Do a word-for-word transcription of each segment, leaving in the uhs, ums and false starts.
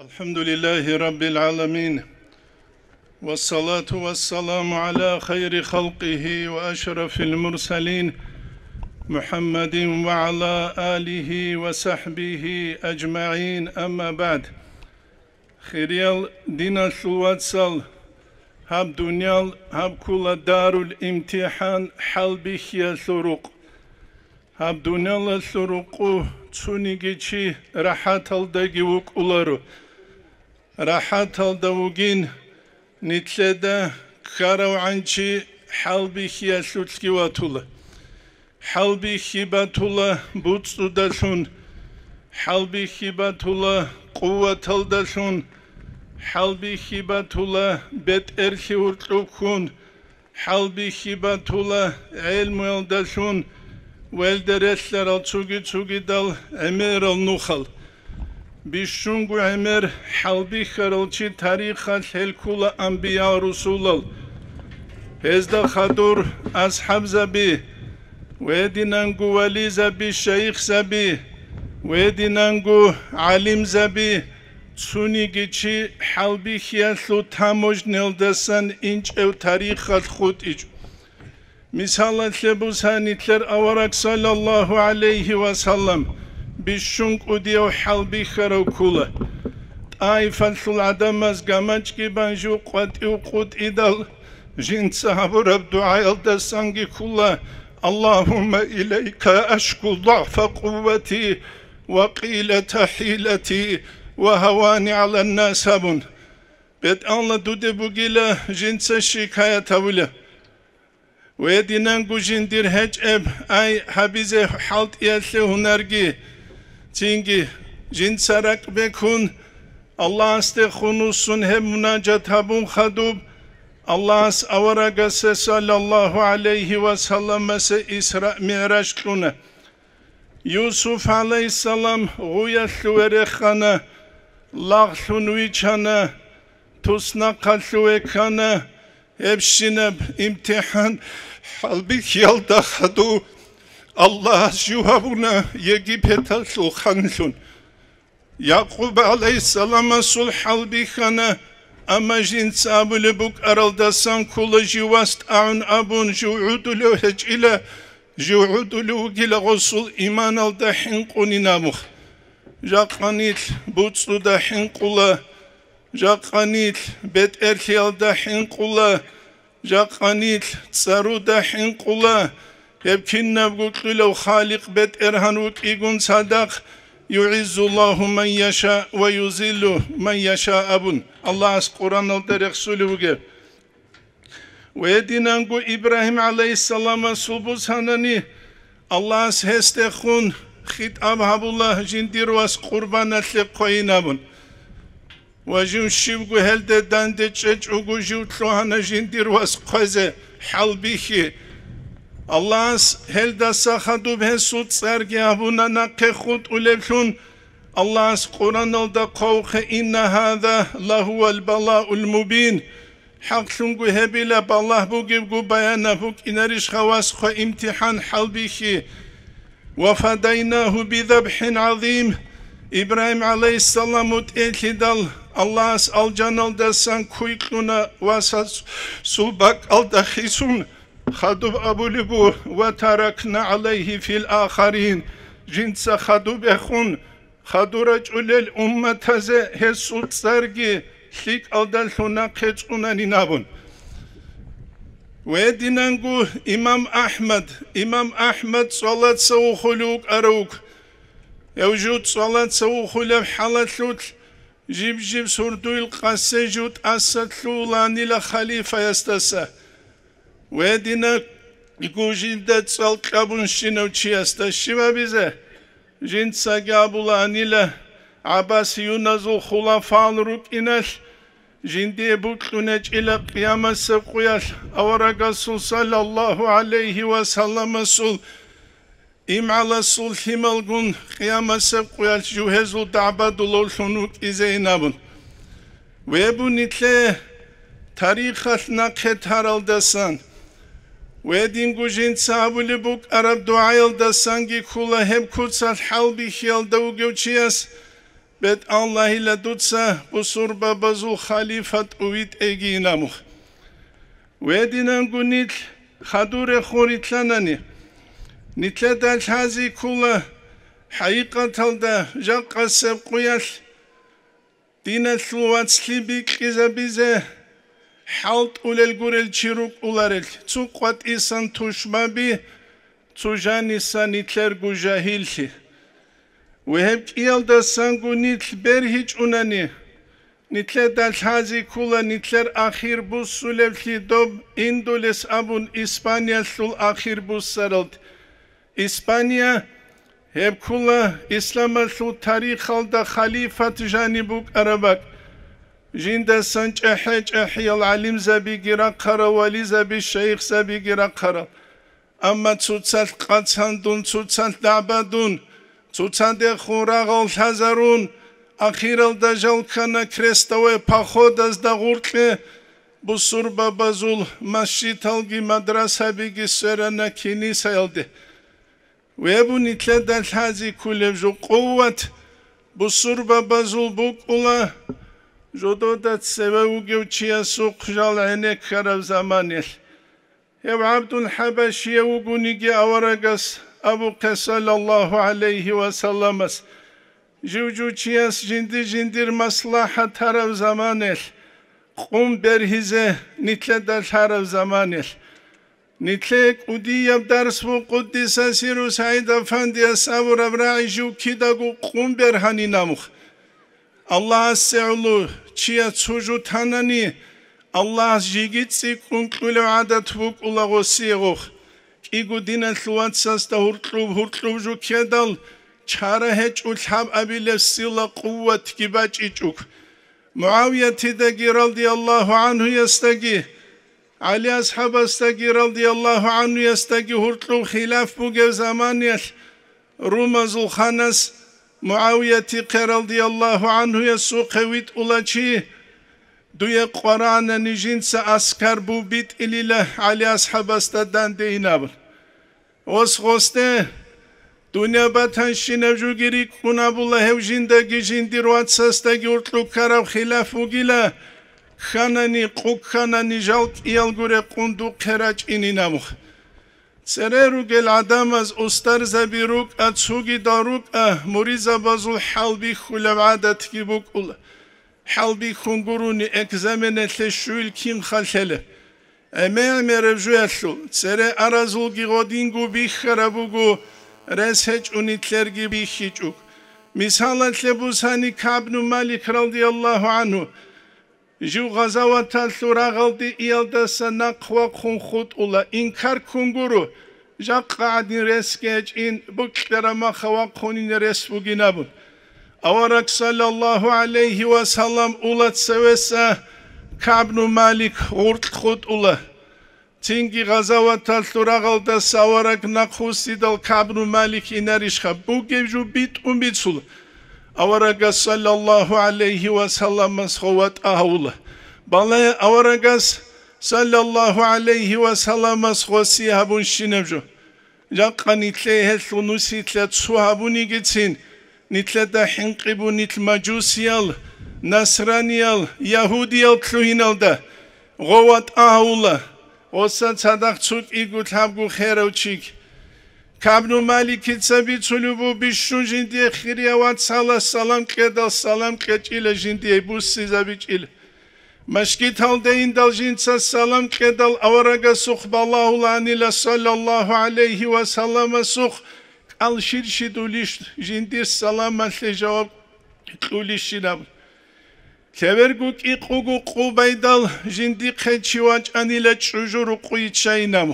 الحمد لله رب العالمين، والصلاة والسلام على خير خلقه وأشرف المرسلين، محمد وعلى آله وصحبه أجمعين، أما بعد. Хириял диналъул вацал, гьаб дуниял гьаб ккола дарул имтихӀан, хӀалбихьиялъул рукъ. Гьаб дуниялалъул рукъу цониги чи рахӀаталдаги вукӀуларо. РахӀаталда вугин, нилъеда ккаравгӀан чи хӀалбихьиялъулъги ватула. ХӀалбихьи батула буцӀцӀудалъун, хӀалбихьи батула къуваталдалъун, хӀалбихьи батула бетӀерлъи гьуркьуб ккун, хӀалбихьи батула гӀелмуялдалъун, велде релълъарал цуги-цугидал гӀемерал нухал. Бищунго гӀемер хӀалбихьарал чи тарихалъ гьел ккула анбиял-русулал. Гьезда хадур асхӀабзаби, гьединанго вализаби, шайихзаби, гьединанго гӀалимзаби, цониги чи хӀалбихьиялъул таможниялдасан инчӀев тарихалъ хутӀичӀо. Мисалалъе буса, нилъер авараг, саллаллагьу гӀалайгьи ва саллам, бищун кӀудияв хӀалбихьарав ккула. ТӀаифалъул гӀадамаз гамачӀги бан жив къватӀив къутӀидал, жинца гьабураб дугӀаялдасанги ккула: «Аллагьумма илайка ашку дугӀфа къуввати ва къиллата хӀилати ва гьавани гӀаланнас», – абун. БетӀалла дуде бугила жинца шикаят гьавула. Гьединанго жиндир гьечӀеб ай гьабизе хӀалтӀиялъе гьунарги, цинги жинца ракӀ бекун, Аллагьасде хунусун гьеб мунажат гьабун хадуб, Аллагьас аварагасе, саллаллагьу гӀалайгьи ва салламасе, Исра-МигӀраж кьуна. Юсуф гӀалайгьиссалам гъуялъуве рехана, лагълъун вичана, туснахъалъуве ккана. Гьебщинаб имтихӀан хӀалбихьиялда хадув Аллагьас жив гьабуна Египеталъул ханлъун. Якъуб гӀалайгьиссаламасул хӀалбихьана, амма жинца абулеб букӀаралдасан ккола жив вас тӀагӀун абун, жив гӀодулев гьечӀила, жив гӀодулев вугила гъосул иманалда хӀинкъунин абун. Жакъа нилъ буцӀцӀуда хӀинкъула, жакъа нилъ бетӀерлъиялда хӀинкъула, жакъа нилъ цӀаруда хӀинкъула, гьеб кинабго кьулев Халикъ БетӀергьан вукӀигун цадахъ, «ЮгӀиззуллагьу ман яша ва юзиллу ман яша», – абун, Аллагьас Къураналда рехсулев вугеб. Гьединанго Ибрагьим гӀалайгьиссаламасул бусанани, Аллагьас гьесдехун хитӀаб гьабула жиндир вас къурбаналъе хъвейин абун. Ва жив щивго гьелде данде чӀечӀого жив лъугьана жиндир вас хъвезе хӀалбихьи. Аллагьас гьелдаса хадуб гьесул цӀарги гьабуна нахъе хутӀулеблъун. Аллагьас Къураналда хъвавухъе: «Инна гьаза лагьувал балаул мубин». ХӀакълъунго гьебила балагь бугебго баянаб букӀинарищха вас хъве имтихӀан хӀалбихьи. «Ва фадайнагьу бизабхӀин гӀазим». Ибрагьим гӀалайгьиссалам вутӀейлъидал Аллагьас алжаналдасан куй кьуна васасул бакӀалда хисун, хадуб абулеб бу: «Ва таракна гӀалайгьи фил ахарин», жинца хадуб эхун, хадур рачӀулел умматазе гьесул цӀарги лъикӀалдалъун нахъе цӀунанин абун. Гьединанго имам АхӀмад, имам АхӀмад цӀалаца вухулев вукӀарав вуго. Гьев жив цӀалаца вухулеб хӀалалъулъ жиб-жиб сурдуйил къасе жив тӀаса лъугьуланила халифаясдаса. Гьединанго жинда цӀал кьабунщинав чиясда щиб абизе? Жинцаги абулаанила, гӀаббасиюназул хулафал рукӀиналъ, жиндие бокьун гьечӀила къиямасеб къуялъ аварагасул саллаллагьу гӀалайгьи ва салламасул имгӀаласул лъималгун къиямасеб къуялъ жугьезул дагӀбадулавлъун вукӀизейин абун. Гьеб бу нилъее тарихалъ нахъе таралдасан, гьединго жинца абулеб букӀараб дугӀаялдасанги ккола гьеб куцалъ хӀалбихьиялда вугев чияс: БетӀаллагьила дуца бусурбабазул халифа тӀувитӀейги инамух. Вединанго нилъ хадур рехун рилълъанани, нилъеда лъази ккула хӀакъикъаталда жакъасеб къуялъ диналъул вацлъи бикьизабизе хӀалтӀулел гурел чи рукӀуларел, цо къватӀисан тушбаби, цо жанисан нилъерго жагьиллъи. Ва гьеб кӀиялдасанго нилъ бергьичӀунани, нилъеда лъази ккула нилъер ахир буссулевлъи доб Индулес абун Испаниялъул ахир буссаралд. Испания гьеб ккула исламалъул тарихалда халифат жаниб букӀараб бакӀ. Жиндасан чӀахӀи-чӀахӀиял гӀалимзабиги рахъарал, вализаби, шайихзабиги рахъарал. Амма цоцалъ къацандун, цоцалъ дагӀбадун, цоцадехун рагъал лъазарун, ахиралда жал ккана крестовый походазда гъуркье, бусурбабазул масжидалги мадрасабиги сверана кинисаялде. Вебу нилъеда лъази ккулеб жо къуват бусурбабазул букӀула, жодода цеве вугев чиясухъ жал гӀенеккараб заманилъ. Гьев ГӀабдул ХӀабашияв вугониги аварагас абухъе, саллаллагьу гӀалайгьи ва салламас, жив-жив чияс жинди-жиндир маслахӀат тараб заманилъ, къун бергьизе нилъеда лъараб заманилъ. Нилъее кӀудияб дарс бу къуддиса сирру СагӀид Афандияс абураб рагӀи жив кидаго къун бергьани намух. Аллагьасе гӀоло чияс цо жо танани, Аллагьас жеги цӀикӀкӀун кьулев гӀадат букӀула гъосие гъох. КӀиго диналъул вацасда гьуркьуб-гьуркьуб жо ккедал, чара гьечӀо лъабабилеб сила-къуватги бачӀичӀого. МугӀавиятидаги радияллагьу гӀанхуясдаги, ГӀали асхӀабасдаги радияллагьу гӀанхуясдаги гьуркьуб хилаф бугеб заманиялъ, румазул ханас МугӀавиятихъе радияллагьу гӀанхуясухъе витӀула чи, дуе къварагӀанани жинца аскар бубитӀилила ГӀали асхӀабасда данде инабун. Ос гъосде, дунъя батанщинаб жуги рикӀкӀун абула гьев жиндаги жиндир вацасдаги уркьуккараб хилаф вугила, кканани, къу кканани жал кӀиялго рекъун духъе рачӀинин абухъ. Цере ругел гӀадамаз устарзаби рукӀа, цугидал рукӀа, муризабазул хӀалбихьулеб гӀадатги букӀула. ХӀалбихьун гурони экзаменалъе щуил кин халъела. ГӀемер-гӀемераб жуялъул, цере аразулги гъодинго бихьараб буго, рес гьечӀони лъерги бихьичӀо. Мисалалъе бусани КагӀбну Малик радияллагьу гӀанху, жив гъазаваталъул рагъалде иялдаса нахъ вахъун хутӀула, инкар ккун гуро, жакъа гӀадин ресги гьечӀин, букьараб маха вахъунин рес бугин абун. Авараг саллаллагьу гӀалайгьи ва саллам ула цевеса КагӀбну Малик гъуркь хутӀула. Цинги гъазаваталъул рагъалдаса авараг нахъвуссидал КагӀбну Малик инарищха? Бугеб жо битӀун бицула. Аварагас саллаллагьу гӀалайгьи ва салламас гъов ватӀа гьавула. Балагье аварагас саллаллагьу гӀалайгьи ва салламас гъосие гьабунщинаб жо. Жакъа нилъее гьелъул нусилъа цо гьабунигицин, нилъеда хӀинкъи бу нилъ мажусиял, насраниял, ягьудиял лъугьиналда, гъов ватӀа гьавула, гъоса цадахъ цо кӀиго лъабго херав чиг. КагӀбну Маликица бицулеб бу, бищун жиндие хирияв вацалас салам кьедал, салам кьечӀила, жиндие буссизабичӀила. Машгиталде индал жинца салам кьедал аварагасухъ балагьулаанила саллаллагьу гӀалайгьи ва салламасухъ кӀал щирщидулищ жиндир саламалъе жаваб кьулищинаб. Лъеберго кӀикъуго къубайдал жиндихъе чи вачӀанила чӀужу рукъуй чайинаб.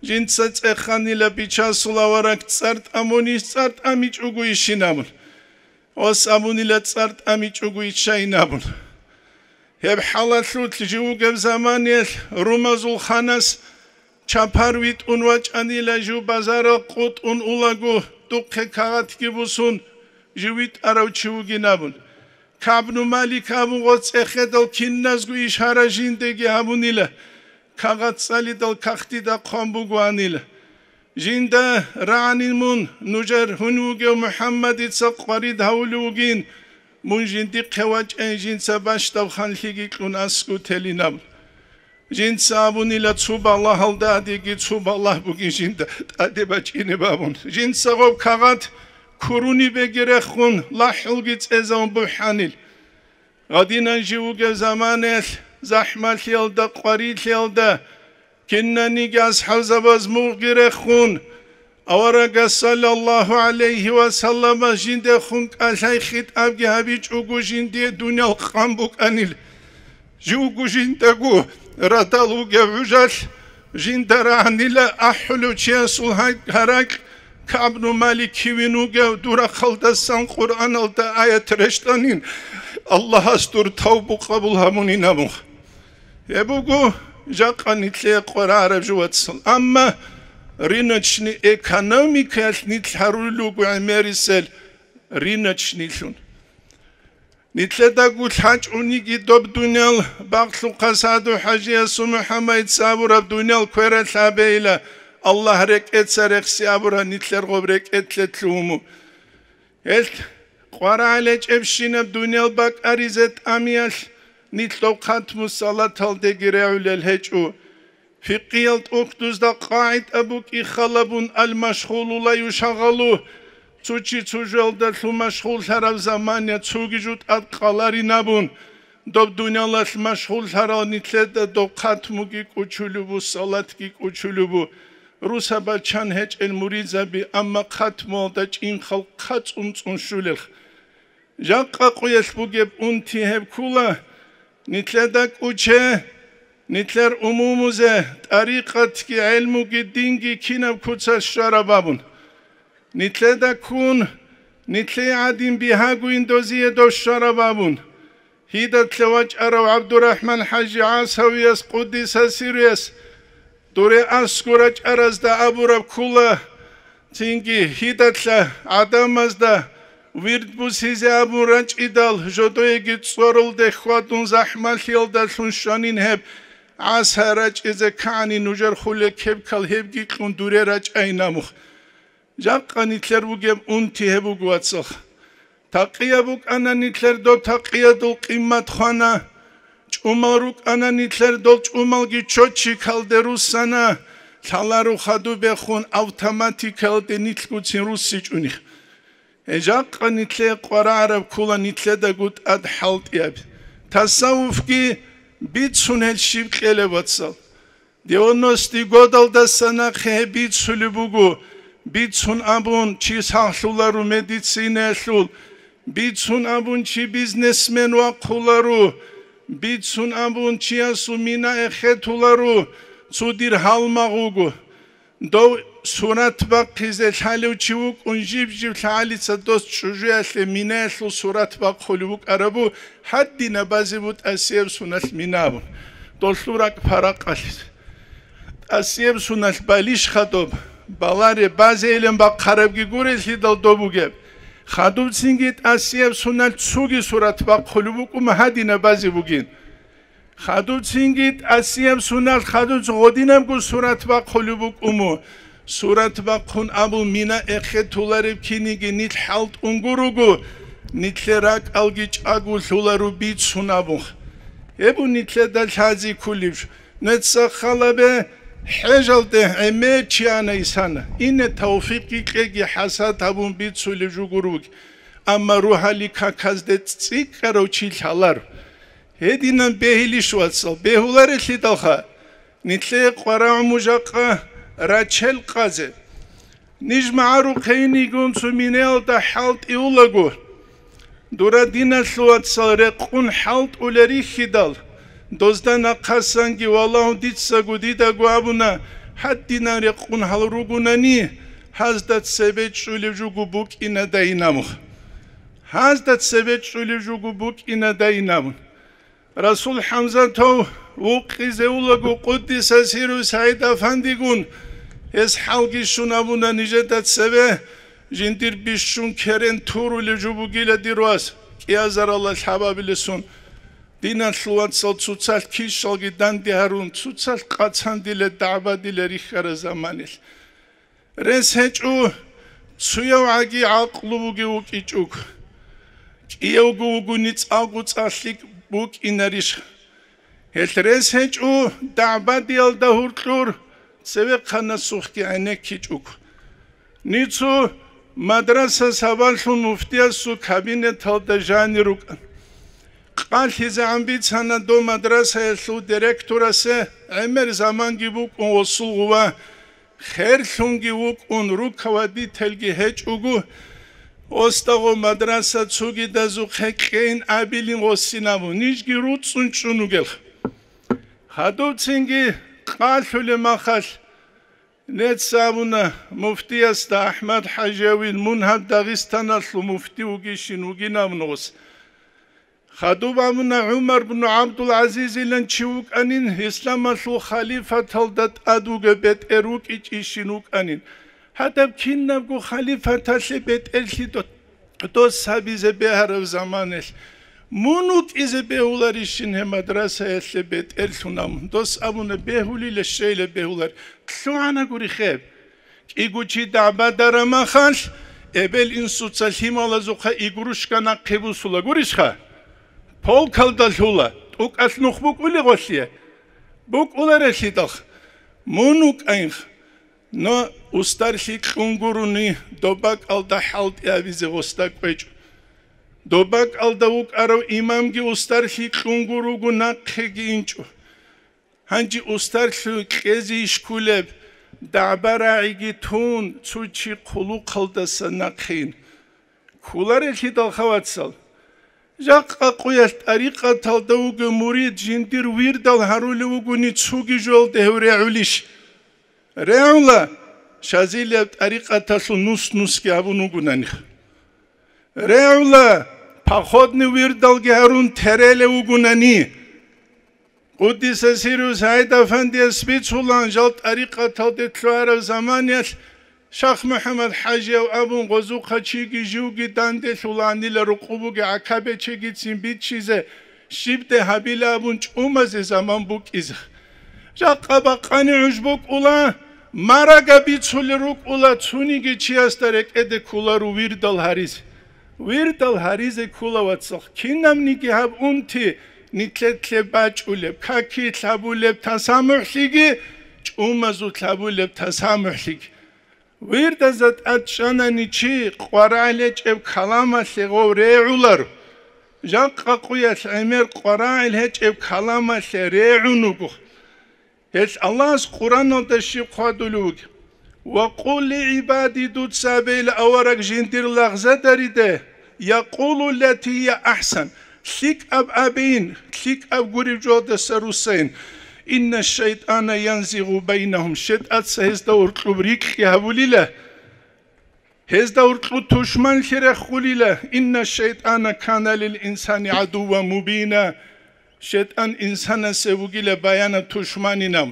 Жинца цӀеханила бичасул авараг цӀар тӀамунищ, цӀар тӀамичӀого ищинаб. Ос абунила цӀар тӀамичӀого иччайин абун. Гьеб хӀалалъулъ жив вугеб заманиялъ румазул ханас чапар витӀун вачӀанила жив базарал къутӀун улаго духъе кагъатги бусун жив витӀарав чи вугин абун. КагӀбну Малик абун гъоцӀехедал киназго ишара жиндеги гьабунила, кагъат цӀалидал кагътида хъван бугоанила. Жинда рагӀанин мун, нужер гьунив вугев МухӀаммадица къварид гьавулев вугин, Мун жиндихъе вачӀайин жинца бащдаб ханлъиги кьун аскӀу телин абун. Жинца абунила цо балагьалда адеги цо балагь бугин жинда тӀаде бачӀинеб абун. Жинца гъоб кагъат курунибеги рехун, лахӀулги цӀезавун бухӀанил. Гъадинан жив вугев заманаялъ, захӀмалъиялда, къварилъиялда, кинаниги асхӀабзабаз мугъги рехун, аварагас саллаллагьу гӀалайгьи ва салламас жиндехун кӀалъай хитӀабги гьабичӀого жиндие дуниял къан букӀанил. Живго жиндаго радал вугев гӀужалъ, жинда рагӀанила ахӀулев чиясул гьай-, гьаракь, КагӀбну Малик кивин вугев, дур рахъалдасан Къуръаналда аят рещтӀанин, Аллагьас дур тавбу къабул гьабунин абун. Гьеб буго жакъа нилъее къварагӀараб жо, вацал. Амма рыночный экономикаялъ нилъ гьарулел руго гӀемерисел рыночныйлъун. Нилъедаго лъачӀуниги доб дуниял багълъухъа Саду-хӀажиясул МухӀаммадица абураб дуниял квералъ абейила, Аллагь рекӀеца рехси абураб нилъер гъоб рекӀелъе лъугьун. Гьелъ къварагӀел гьечӀебщинаб дуниял бакӀаризе тӀамиялъ нилъ доб хатму салаталдеги регӀулел гьечӀо. Фикъиял тӀухьдузда къагӀида букӀи халабун: «Ал-машгъулу ла юшагъалу», цо чи цо жоялдалъун машгъуллъараб замана цоги жо тӀад къаларин абун, доб дуниялалъ машгъуллъарал нилъеда доб хатмуги кӀучулеб бу, салатги кӀучулеб бу, русаб бачан гьечӀел муридзаби, амма хатмуялда чӀинхъал хъацӀун цӀун щулелха. Жакъа къуялъ бугеб унти гьеб ккула, нилъеда кӀуче, нилъер умумузе, тӀарикъатги, гӀелмуги, динги кинаб куцалъ щвараб абун. Нилъеда ккун, нилъее гӀадин бигьагуин дозие дов щвараб абун. Гьидалъа вачӀарав ГӀабдурахӀман-хӀажи ГӀасавияс, къуддиса сирруяс, дуре аскӀор рачӀаразда абураб ккула, цинги гьидалъа гӀадамазда вирд бусизе абун рачӀидал, жодоеги цӀоролде хьвадун захӀмалъиялдалъун щванин гьеб ГӀаса рачӀизе ккани нужер хуле кебкал гьебги кьун дуре рачӀайин абун. Жакъа нилъер бугеб унти гьеб буго, вацал. Такъияб букӀана нилъер, доб такъиядул къиммат хвана, чӀумал рукӀана нилъер, дол чӀумалги чочикалде руссана, лъаларо хадубехун автоматикалде нилъгуцин руссичӀуни. Гьеб жакъа нилъее къварагӀараб ккула нилъедаго тӀад хӀалтӀияб. Тасаввуфги бицун гьел щиб кьелеб, вацал. Девяностые годалдаса нахъе гьеб бицулеб буго, бицун абун, чи сахлъуларо медицинаялъул, бицун абун, чи бизнесмен вахъуларо, бицун абун, чиясул мина эхетуларо, цо дир гьалмагъ вуго. Дов сурат бахъизе лъалев чи вукӀун, жиб-жиб лъагӀалица дос чӀужуялъе минаялъул сурат бахъулев вукӀарабу, гьадинабазе бу тӀасияб суналъ мина абун. Долъул ракӀ паракъалъизе. ТӀасияб суналъ балищха доб, баларе базейилан бахъарабги гурелъидал доб бугеб. Хадубцинги тӀасияб суналъ цуги сурат бахъулеб букӀума гьадинаб базе бугин. Хадубцинги тӀасияб суналъ хадуб гъодинабго сурат бахъулеб букӀумо. Сурат бахъун абун мина эхетулареб киниги нилъ хӀалтӀун гуруго, нилъер ракӀалги чӀаголъуларо бицун абун. Гьеб бу нилъеда лъази ккулеб. Нецахъалабе хӀежалде гӀемер чи ана исана. Ине тавфикъги кьеги хӀасад гьабун бицулеб жугур вуги. Амма рухӀали каказде цӀикӀкӀарав чи лъалар. Гьединан бегьилищ, вацал, бегьуларелъидалха, нилъее къварагӀуму жакъа рачел къазе. Ниж магӀарухъейнигун цо минеялда хӀалтӀиулаго, дура диналъул вацал рекъун хӀалтӀулел рихьидал, дозда нахъасанги валагьун дицаго дидаго абуна, гьадинан рекъун гьал ругунани, гьазда цебе чӀулев жуго букӀинадайин абун. Гьазда цебе чӀулев жуго букӀинадайин абун. Расул ХӀамзатов вукъизе улаго, къуддиса сирру, СагӀид-афандигун, гьес хӀалги щун абуна нижеда цебе, жиндир бищун керен турулев жо бугила дир вас, кӀиазаралда лъабабилесун. Диналъул вацал, цоцалъ кишалги данде гьарун, цоцалъ къацандиле, дагӀбадиле рихьараб заманалъ. Рес гьечӀо, цуяв гӀаги гӀакълу бугев вукӀичӀого. Иявго вугони цӀалго цӀалъи букӀинарищ? Гьелъ рес гьечӀо дагӀбадиялда гьуркьур цевехъанасухъги гӀенеккичӀого. Нецо мадраса сабаблъун муфтиясул кабинеталда жанир рукӀан. КъалъизегӀан бицана дов мадрасаялъул директорасе, гӀемер заманги букӀун гъосул гъува, херлъунги вукӀун, руководительги гьечӀого, осдагъо мадраса цогидазухъе кьейин абилин гъосин абун, нижги руцӀцӀун чӀун вугелха. Хадубцинги къалъулеб махалъ, нецаабуна муфтиясда АхӀмад ХӀажиявил, мун гьаб Дагъистаналъул муфти вугищин вугин абун гъос. Хадуб абуна ГӀумар бну ГӀабдул-ГӀазизилан чи вукӀанин, исламалъул халифаталда тӀад вугеб бетӀер вукӀичӀищин вукӀанин. Гьадаб кинабго халифаталъе бетӀерлъи до-, дос гьабизе бегьараб заманалъ мун вукӀизе бегьуларищин гьеб мадрасаялъе бетӀерлъун абун? Дос абуна, бегьулила, щейила бегьулар. ЛъугӀана гури хеб. КӀиго чи дагӀбадараб махалъ, эбел-инсуца лъималазухъа игрушка нахъе бусула гурищха? Полкалда лъула, тӀукӀалъ нух букӀулей гъолъие? БукӀуларелъидалха. Мун вукӀайинха. Но устарлъи кьун гурони, доб бакӀалда хӀалтӀи гьабизе гъосда кӀвечӀо. Доб бакӀалда вукӀарав имамги устарлъи кьун гуро вуго, нахъеги инчӀо. Гьанже устарлъи кьезе иш кколеб, дагӀба-рагӀиги тун, цо чи хъулухъалдаса нахъин. Кколарелъидалха, вацал. Жакъа къуялъ тӀарикъаталда вугев мурид жиндир вирдал гьарулев вугони, цоги жоялда гьев регӀулищ? РегӀула, Шазилияб тӀарикъаталъул нус-нусги гьабун вугонаниха. РегӀула, походный вирдалги гьарун терелев вугонани. Къуддиса сирру СагӀид-афандияс бицулан, жал тӀарикъаталде лъугьараб заманиялъ Шах МухӀаммад ХӀажияв абун гъозухъа чиги живги данделъуланила, рукъубуги гӀакабечегицин биччизе, щибде гьабила абун чӀумазе заман букӀизе. Жакъа бакъани гӀуж букӀула, марага бицулел рукӀула, цониги чиясда рекӀеде кколаро вирдал гьаризе. Вирдал гьаризе ккола, вацал, кинабниги гьаб унти, нилъедлъе бачӀулеб, какилъ гьабулеб тасамухӀлъиги, чӀумазулъ гьабулеб тасамухӀлъиги. Вирдазда тӀад чӀанани чи къварагӀел гьечӀеб каламалъе гъов регӀуларо. Жакъа къуялъ гӀемер къварагӀел гьечӀеб каламалъе регӀун вуго. Гьелъ Аллагьас Къураналда щиб хъвадулев вугеб: «Ва къул ли гӀибади», дуца абейила авараг жиндир лагъзадариде, «якъулу ллати гьия ахӀсан», лъикӀаб абейин, лъикӀаб гуреб жоялдаса руссайин, «инна шайтӀана янзигъу байнагьум», шайтӀаца гьезда уркьуб рикьги гьабулила. Гьезда уркьу тушманлъи рехулила, «инна шайтӀана кана лил инсани гӀадувван мубина», шайтӀан инсанасе вугила баянаб тушманинав.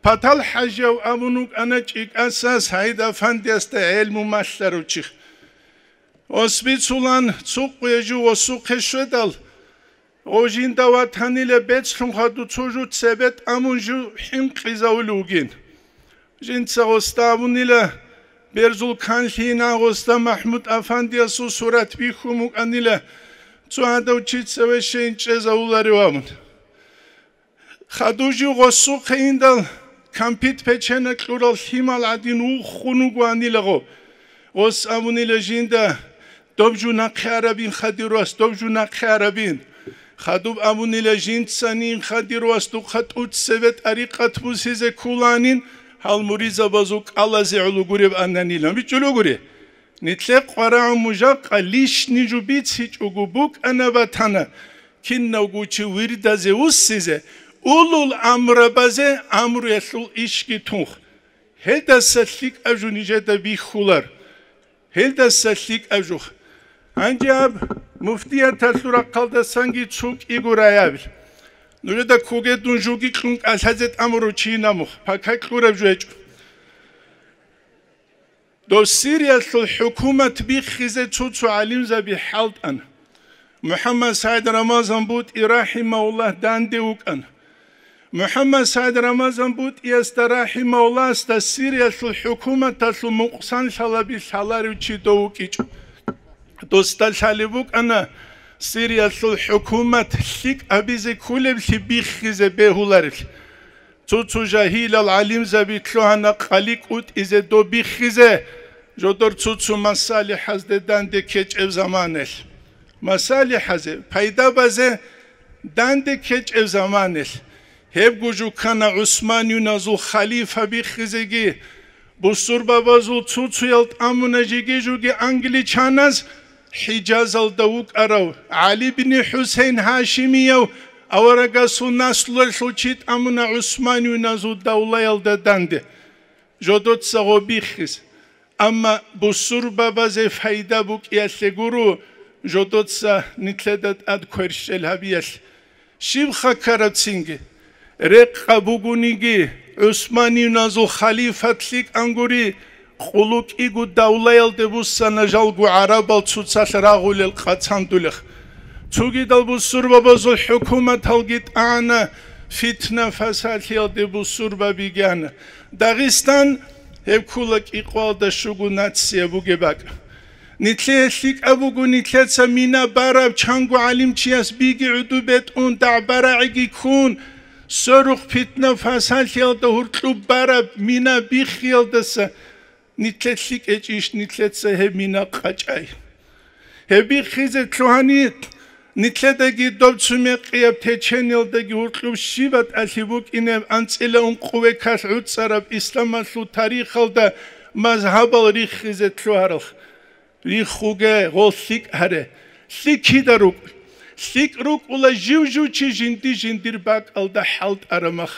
Патал ХӀажияв абун вукӀана чӀикӀаса СагӀид-афандиясда гӀелму малъарав чи. Ос бицулан, цо къуя жив осухъе щведал, Гъов жинда ватанила бецлъун хадуб цо жу цебе тӀамун жив хӀинкъизавулев вугин. Жинца гъосда абунила, берзул канлъи гьанже гъосда МахӀмуд-афандиясул сурат бихьун букӀанила, цо гьадав чи цеве щейин чӀезавуларев абун. Хадуб жив гъосухъе индал, кампит-печенай кьурал лъимал гӀадин вухун вугоанила гъов. Гъос абунила жинда: «Доб жу нахъе арабин, хадир вас, доб жу нахъе арабин». Хадуб абунила жинцанин: «Хадир вас, духъа тӀуцебе тӀарикъат бусизе кколанин, гьал муридзабазул кӀалазе гӀоло гуреб ананила». БичӀчӀулев гури. Нилъер къварагӀун мужакъа лишни жу бицичӀого букӀана батана, кинавго чи вирдазе вуссизе, улул амрабазе амруялъул ишги тунх. Гьелдаса лъикӀаб жу нижеда бихьулар. Гьелдаса лъикӀаб жу. Гьанже аб муфтияталъул рахъалдасанги цо кӀиго раябил. Нужеда ккоге дун жуги кьун кӀалъазе тӀамурав чи намух, пакай кьураб жу гьечӀо. Дов Сириялъул хӀукумат биххизе цо-цо гӀалимзаби хӀалтӀана. МухӀаммад СагӀид Рамазан БутӀи рахӀимагьуллагь данде вукӀана. МухӀаммад СагӀид Рамазан БутӀиясда рахӀимагьуллагьасда Сириялъул хӀукуматалъул мукъсанлъалаби лъаларев чи дов вукӀичӀо. Досда лъалеб букӀана Сириялъул хӀукумат лъикӀ гьабизе кколеблъи биххизе бегьуларел. Цо-цо жагьилал гӀалимзаби лъугьана къали кӀутӀизе доб биххизе, жодор цо-цо масалихӀазде данде ккечӀеб заманелъ. МасалихӀазе, пайда базе данде ккечӀеб заманелъ. Гьебго жуккана ГӀусманиюназул халифа биххизеги, бусурбабазул цо-цоял тӀамуна жеги-жуги англичаназ, ХӀижазалда вукӀарав ГӀали бин ХӀусейн Гьашимияв аварагасул наслуялъул чи тӀамуна ГӀусманиюназул давлаялда данде. Жодоца гъо биххис. Амма бусурбабазе пайда букӀиялъе гуро жодоца нилъеда тӀад кверщел гьабиялъ. Щибха ккарабцинги, рекъа бугониги, ГӀусманиюназул халифат лъикӀан гури, къулу кӀиго давлаялде буссана жалго гӀарабал цоцалъ рагъулел къацандулех. Цогидал бусурбабазул хӀукуматалги тӀана, фитна-фасалъиялде бусурбаби гьана. Дагъистан гьеб ккола кӀикъоялда щуго нация бугеб бакӀ. Нилъее лъикӀаб буго нилъеца мина бараб чанго гӀалимчияс биги гӀуду бетӀун дагӀба-рагӀиги ккун, сорухъ питна-фасалъиялда гьуркьуб бараб мина биххиялдаса нилъе лъикӀечӀищ нилъеца гьеб мина къачӀай? Гьеб биххизе лъугьани, нилъедаги доб цу мекъияб течениялдаги гьуркьуб щиб батӀалъи букӀинеб анцӀила ункъо векалъ гӀуцӀараб исламалъул тарихалда мазгьабал риххизе лъугьаралъ. Риххуге, гъол лъикӀ гьаре. ЛъикӀ кида рукӀ? ЛъикӀ рукӀула жив-жив чи жинди-жиндир бакӀалда хӀалтӀараб мах.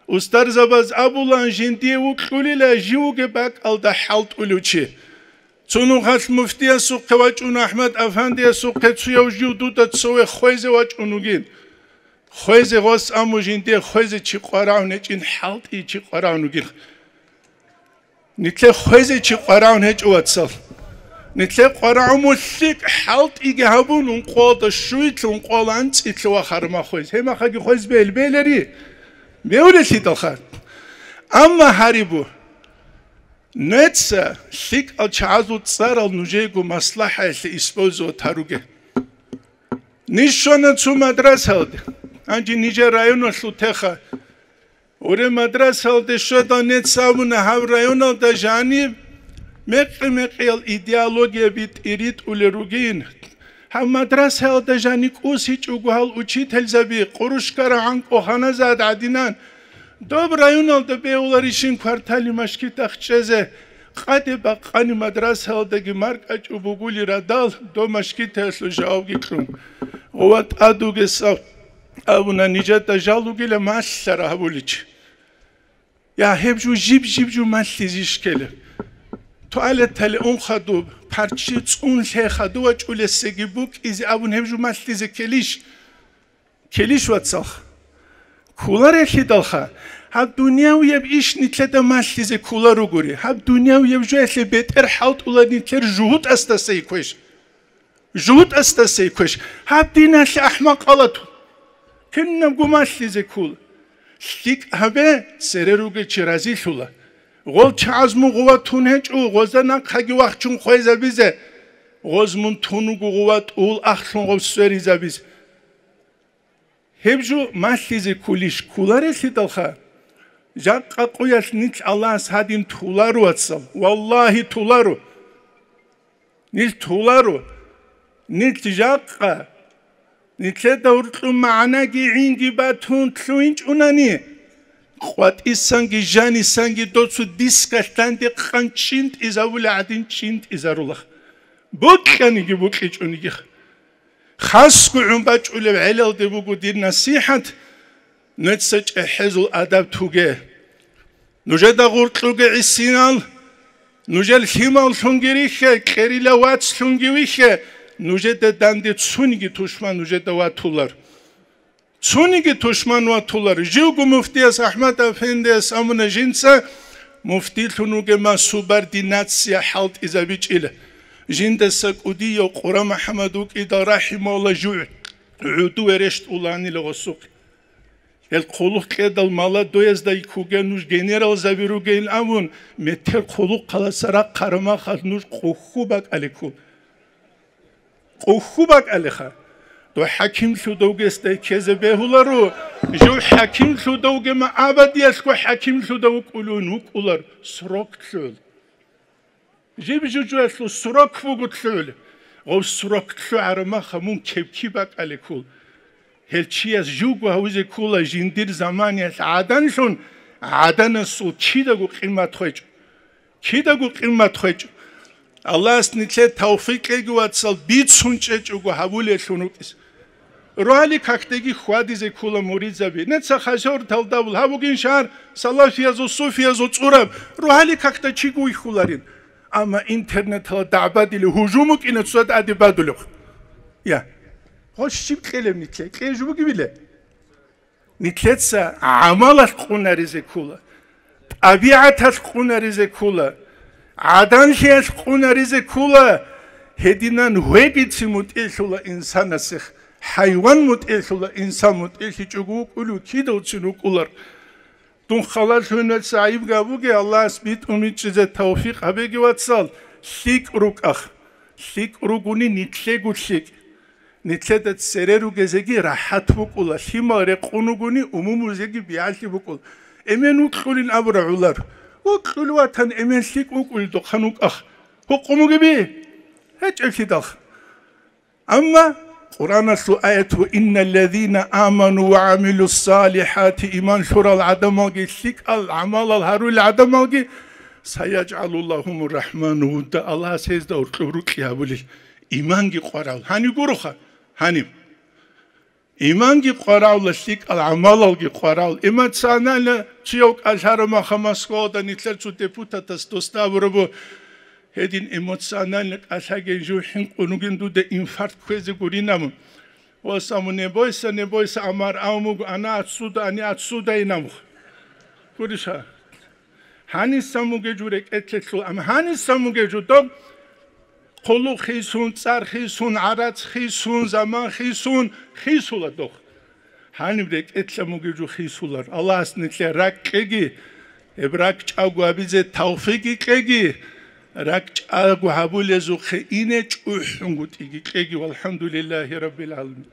Устарзабаз абулаан, жиндие вукьулила жив вугеб бакӀалда хӀалтӀулев чи. Цо нухалъ муфтиясухъе вачӀун, АхӀмад-афандиясухъе цояв жив дуда цове хвезе вачӀун вугин. Хвезе гъос аму жиндие хвезе чи къварагӀун гьечӀин, хӀалтӀи чи къварагӀун вугин. Нилъе хвезе чи къварагӀун гьечӀо, вацал. Нилъе къварагӀун мулъикӀ хӀалтӀиги гьабун, ункъоялда щуялъе, ункъоялда анцӀилъе вахараб мах хвез. Гьеб махаги хвез бел-, белери? Беулелъидалха. Амма гьарибу, неца лъикӀал чагӀазул цӀарал нужеего маслахӀаялъе использовать гьаруге. Ниж щвана цо мадрасалде, гьанже нижер районалъул теха. Уре мадрасалде щведал, нец абуна, гьаб районалда жаниб мекъи-мекъиял идеологияби тӀиритӀулел ругин. Гьаб мадрасаялда жани кӀусичӀого гьал учительзаби, къурушкара гӀанкӀу ханазад гӀадинан. Доб районалда бегьуларищин квартали машгитахъ чӀезе? Къаде бакъани мадрасаялдаги маркӀачӀу бугули радал, доб машгитаялъул жавабги кьун. Гъова тӀадугесав абуна, нижеда жал ругила малъара гьабуличи. Я, гьеб жо жиб-жиб жо малъизе иш ккела? Туалетале ун хадуб, парчи цӀун лъе хадув вачӀулесеги букӀизе абун гьеб жо малъизе ккелищ? Ккелищ, вацалха? Кколарелъидалха, гьаб дунявияб иш нилъеда малъизе кколаругури, гьаб дунявияб жоялъе бетӀер хӀалтӀула нилъер жугьутӀасдасай квеш. ЖугьутӀасдасай квеш, гьаб диналъе ахӀмакъала тун. Кинабго малъизе ккола. ЛъикӀ гьабе, цере ругел чи разилъула. Гъол чагӀаз мун гъува тун гьечӀо, гъозда нахъаги вахчун хвезабизе. Гъоз мун тун вуго гъува тӀул ахълъун гъов сверизабизе. Гьеб жо малъизе кколищ? Кколарелъидалха, жакъа къуялъ нилъ Аллагьас гьадин туларо, вацал, валлагьи, туларо. Нилъ туларо, нилъ жакъа, нилъеда гьуркьун магӀнаги гӀинги батун лъугьинчӀунани, къватӀисанги жанисанги доцу дискалъ данде къан чӀинтӀизабула гӀадин чӀинтӀизарула. Букьаниги букьичӀонигиха. Хасго гӀун бачӀулеб гӀелалде буго дир насихӀат, нуца чӀехӀезул адаб туге. Нужеда гъуркьуге гӀисинал, нужер лъималлъунги рихье, кьерила вацлъунги вихье, нужеда данде цониги тушман нужеда ватулар. Цониги тушман ватулар. Живго муфтияс АхӀмад-афендияс амуна жинца, муфтилъун вугема субординация хӀалтӀизабичӀила. Жиндаса кӀудияв Къура МухӀаммад вукӀидал, рахӀимагьуллагь, жугӀ гӀуду верещтӀуланила гъосухъе. Гьел хъулухъ кьедал молодоязда йиккуге нуж генералзаби ругейин абун, метер хъулухъаласа рахъараб махалъ нуж къухьу бакӀаликкун. Къухьу бакӀалеха. Дов хӀакимлъудавгесдай ккезе бегьуларо, жив хӀакимлъудавгема абадиялъго хӀакимлъудав вукӀулевин вукӀулар срок лъугӀун. Жиб жужуялъул срок буго лъугӀун. Гъов срок лъугӀараб маха мун кепки бакӀале ккол. Гьел чияс жуго гьавизе ккола жиндир заманиялъ гӀаданлъун, гӀаданасул кидаго къимат хвечӀо. Кидаго къимат хвечӀо. Аллагьас нилъее тавфикъ кьеги, вацал, бицун чӀечӀого гьабулелъун вукӀис. Рогьалил какдаги хьвадизе ккола муридзаби. Нецах гьасортал давул гьабугин шагьар салафиязул, суфиязул цӀураб. Рогьалил какда чиго вихьуларин. Амма интернеталда дагӀбадили гьужум букӀина цоцазда тӀаде бадулеб. Я. Гъо щиб кьелеб нилъее? Кьей жо бугебиле? Нилъеца гӀамалалъ къунаризе ккола, тӀабигӀаталъ къунаризе ккола, гӀаданлъиялъ къунаризе ккола, гьединан гьвегицин мутӀигӀлъула инсанасех, хӀайван мутӀигӀлъула, инсан мутӀигӀлъичӀого вукӀулев кидавцин вукӀулар. Дун халалъугьиналъ гӀайиб гьабуге, Аллагьас битӀун бичӀчӀизе тавфикъ гьабеги, вацал, лъикӀ рукӀа. ЛъикӀ ругони нилъего лъикӀ. Нилъеда цере ругезеги рахӀат букӀула, лъимал рекъон ругони умумузеги биялъи букӀула. Эмен вукьулин абура гӀолар. Вукьулев ватани эмен лъикӀ вукӀуледухъан вукӀа. Гьукъун бугеби? ГьечӀеблъидалха. Амма Къуръаналъул аят: «Ва инналлазина аману ва гӀамилуссалихӀати», иман лъурал гӀадамалги, лъикӀал гӀамалал гьарулел гӀадамалги, «сайяжгӀалу лагьумур рахӀману вудда», Аллагьас гьезда гьоркьоб рокьи гьабулел. Иманги къварал. Гьанив гуроха? Гьанив. Иманги къварал, лъикӀал гӀамалалги къварал. Эмоционально цуяв кӀалъараб маха Москвалда нилъер цо депутатас досда абураб буго, гьедин эмоционально кӀалъаген жив хӀинкъун вугин, дуда инфаркт кквезе гурин абун. Ва саму: «Не бойся, не бойся, Амар, а муг, она отсюда, они отсюда», инамух. Гуриша. Гьанисан мугев жо рекӀелъелъул, амма гьанисан мугев жо доб хъулухъ хисун, цӀар хисун, гӀарац хисун, заман хисун, хисула дох. Гьаниб рекӀелъа мугев жо хисулар. Аллагьас нилъее ракӀ кьеги, гьеб ракӀ чӀаго гьабизе тавфикъги кьеги, ракӀ чӀаго гьабулезухъе ине чӀухӀунгутӀиги кьеги. ВалхӀамдулиллагьи раббил гӀаламин.